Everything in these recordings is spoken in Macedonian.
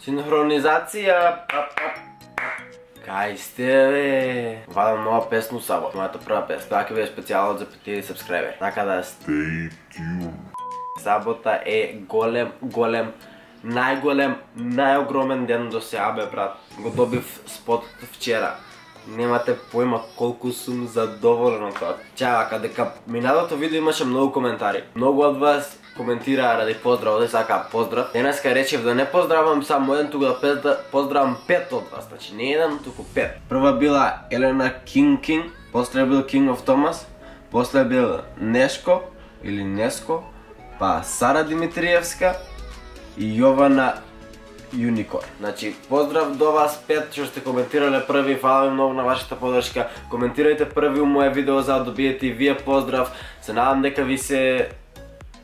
Синхронизација. Кај сте, бе? Вадам нова песна у сабот. Мојата прва песна. Тоа ќе биде специјално за 5000 сабскрајбери. Така да stay tuned. Сабота е голем, најголем, најогромен ден до сега, бе, брат. Го добив спот вчера. Немате појма колку сум задоволен од тоа. Чака, дека минатото видео имаше многу коментари. Многу од вас коментираа ради поздрав, да сака поздрав. Денеска речев да не поздравам само еден, туку да поздравам 5 од вас. Значи не еден, туку 5. Прва била Елена Кинг, после бил King of Thomas, после бил Нешко или Неско, па Сара Димитриевска и Јована Юникор. Значи, поздрав до вас 5 што сте коментирале први, фала ви многу на вашата подршка. Коментирајте први у моје видео за да добиете и вие поздрав. Се надам дека ви се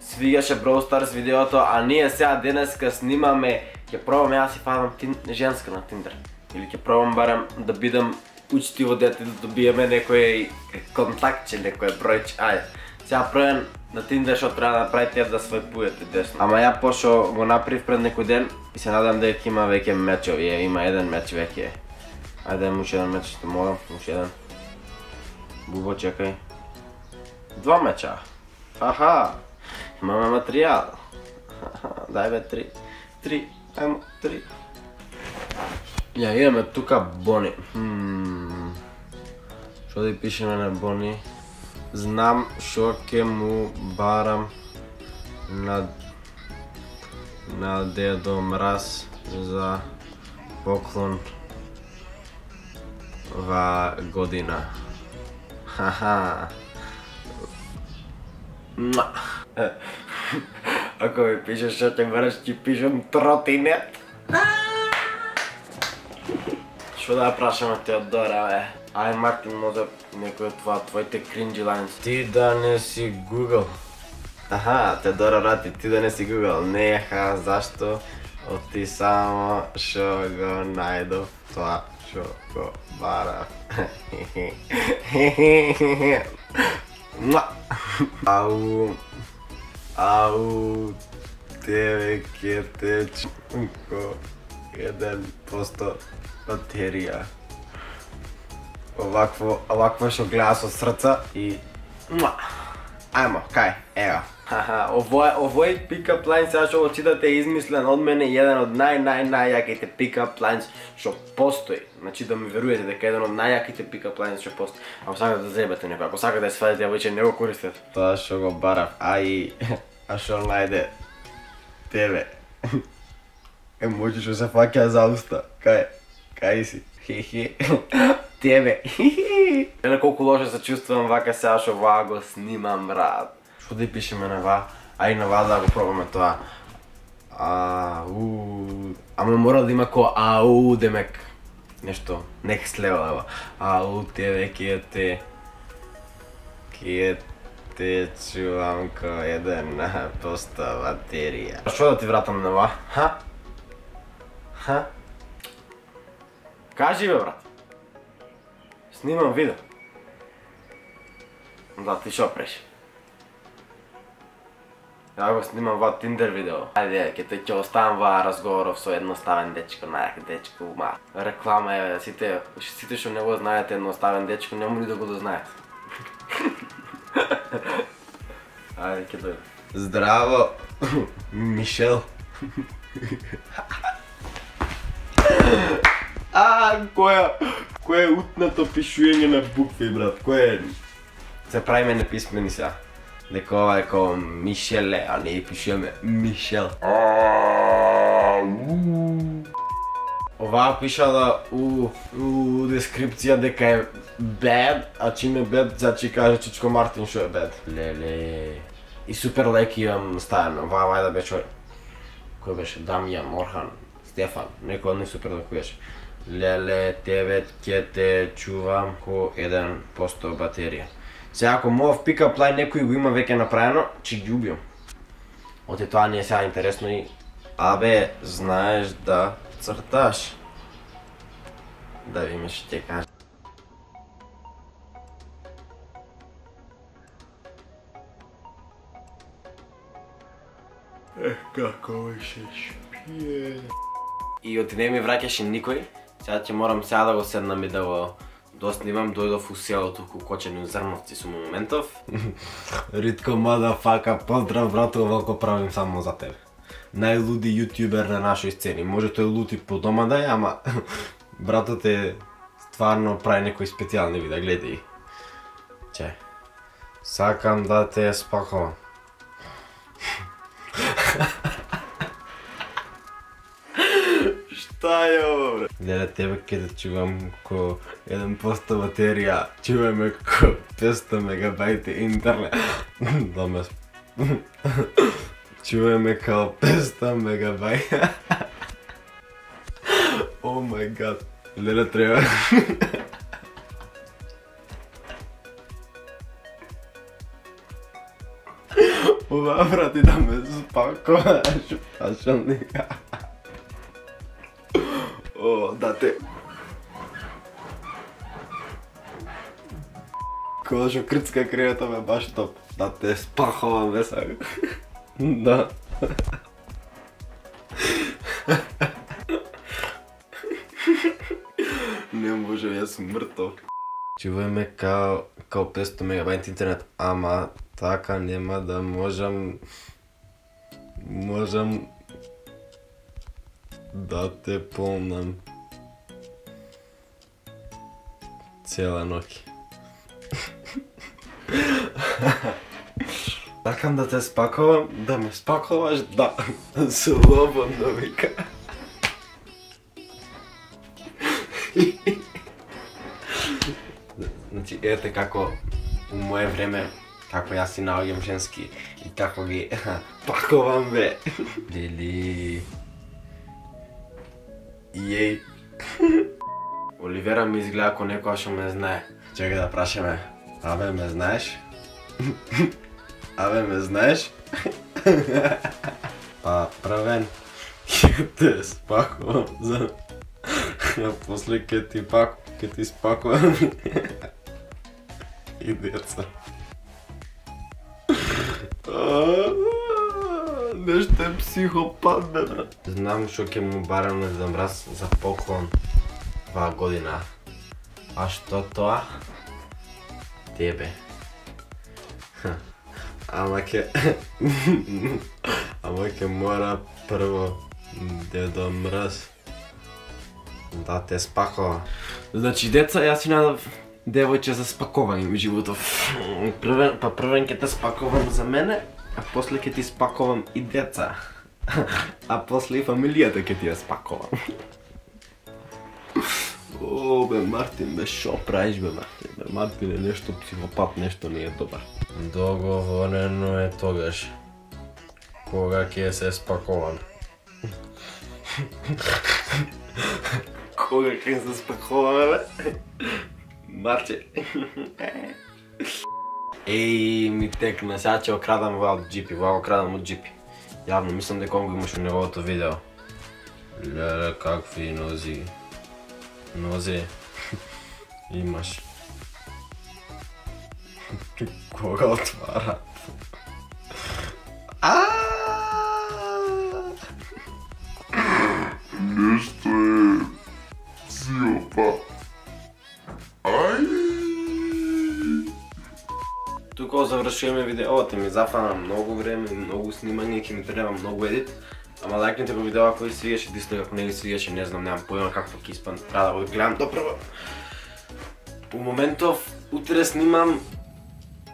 свигаше Brawl Stars видеото, а ние сега денеска снимаме, ќе пробам јас си фанам женска на Tinder. Или ќе пробам барем да бидам учтиво дете, да добиеме некој контактче, некој бројче. Ајде, сега пробам на Tinder што треба да направите да свајпуете десно. Ама ја пошо го направив пред некој ден и се надам дека има веќе мечови, има еден меч веќе. Ајде, уште еден меч што молам, уште еден. Бубо, чекај. 2 меча. Аха. Имаме материјал. Дај бе 3. Ајмо 3. Ја имаме тука Бони. Што да пишеме на Бони? Знам шо ќе му барам на Дедо Мраз за поклон ва година. Хаха. Ако ми пишеш што ќе бараш, ќе пишем тротинет. Што да прашаме Теодора, бе? Ај, Мартин, може некој од твоите кринджи лайнс. Ти да не си Google. Аха, Теодора рати, ти да не си Google. Неха, зашто? Оти само шо го најдов тоа шо го барав. Ау, тебе ке те чунко 1% батерија. Овакво шо гледа со срца и... Ајмо, кај, ева. Овој pick-up line сега што го читате е измислен од мене и еден од најјаките pick-up lines што постои. Значи да ми веруете дека еден од најјаките pick-up lines што постои. Ако сакате да заебате некој, ако сакате да свадите, ја веќе не го користете. Тоа што го барав, а што најде тебе. Емоджи што се фаќа за уста. Кај си? Хе-хе. Тебе. Еле колку лошо се чувствувам вака сега што ваа го снимам, брат. Што да пишеме на ва? Ај на ва да го пробаме тоа. Ама мора да има ко ау, демек нешто next level, ева. Ау, тебе ке те чувам ко 1% батерија. Што да ти вратам на ва? Ха? Кажи бе, брат. Снимам видео. Да, ти шо преш? Ја го снимам ва Tinder видео. Ајде, ќе оставам ва разговоров со едноставен дечко, најак дечко, реклама е, сите што не го знаете едноставен дечко, нему ни да го дознаете. Ајде, ќе дојде. Здраво, Мишел. Кој е утнато пишуење на букви, брат? Кој е? Се правиме неписмени сега. Дека ова е како Мишеле, а не пишеме Мишел. Оваа пишала у дескрипција дека е bad, а чим е bad, значи каже Чичко Мартин што е bad. Леле. И супер лайк имам ставено. Оваа вајда беше кој беше? Дамјан, Орхан, Стефан, некој од нив супер лайк беше. Леле, тебе ќе те чувам ко 1% батерија. Сега ако мов pick-up line некој го има веќе направено, ќе ги убијам. Оти тоа не е сега интересно и... Абе, знаеш да црташ? Да видиме што ќе кажа. Како се шпие. и оти не ми враќаше никој. Сега ќе морам сега да го седнам и да го доснимам. Дојдов у селото Кукочени у Зрновци со моментов. Ритко мадафака, поздрав брато, овако правим само за тебе. Најлуди јутјубер на нашој сцени. Може тој лути по дома да е, ама братот е стварно прави некои специјални видеа, гледај. Че. Сакам да те спакувам. Шта е ово, бре? Гледа тебе ке да чувам ко 1% батерија, чуваме ко 500 мегабајти интернет. Да ме... Чуваме као 500 мегабајта. О мај гад. Леле треба. Ова брати да ме спакуваш, пашалника. О, да те. Кога шо крцка крејата ме баш топ. Да те спахувам бе сега. Да. Не може, јас сум мртов. Чувајме као 500 мегабајт интернет, ама така нема да можам да те полнам цела ноќ. Сакам да те спакувам, да ме спакуваш, да, слободно вика. Значи, ете како у моје време, како јас си наоѓам женски и како ги пакувам бе. Лили. Јеј. Оливера ми изгледа ко некоја што ме знае. Чекај да прашаме. Абе, ме знаеш? Абе, ме знаеш? Па, првен, ќе те спакувам за... А после ќе ти спакувам и деца. Нешто е психопат, бе, брат. Знам што ќе му барам на Дед Мраз за поклон оваа година. А што тоа? Тебе. Ама ќе мора прво Дедо Мраз да те спакува. Значи, деца, јас си надав девојче за спакување во животов. Првен ќе те спакувам за мене, а после ќе ти спакувам и деца. А после и фамилијата ќе ти ја спакувам. О, бе, Мартин, бе, шо правиш, бе, Мартин? Бе, Мартин е нешто психопат, нешто не е добар. Договорено е тогаш. Кога ќе се спакувам? Кога ќе се спакуваме, бе? Марче. Еј, ми текна, сега ќе окрадам ова од джипи, ова окрадам од джипи. Јавно, мислам дека го имаш у неговото видео. Леле, какви нози. Нози. Имаш. Кога отварат? Нешто е психопат. Тука завршуваме видеото, ми зафана многу време, многу снимање, ќе ми треба многу едит. Ама лајкнете го видео ако ви свиеше, дислайк ако не ви свиеше, не знам, немам појма како ќе испадне. Треба да го гледам допрво. У моментов, утре снимам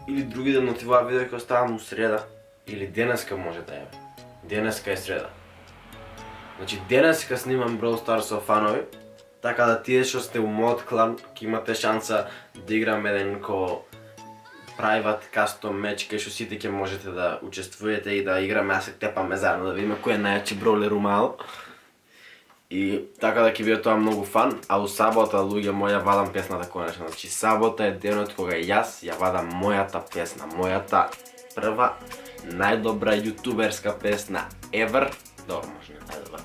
или други ден од оваа видео ќе оставам у среда. Или денеска може да е. Денеска е среда. Значи денеска снимам Brawl Stars со фанови, така да тие што сте у мојот клан ќе имате шанса да играм еден ко private custom match кај што сите ќе можете да учествувате и да играме, а се тепаме заедно да видиме кој е најјачи броулер у мало. И така да ќе биде тоа многу фан, а у сабота луѓе моја вадам песната конечно. Значи сабота е денот кога јас ја вадам мојата песна, мојата прва најдобра јутуберска песна ever. Добро, може не најдобра.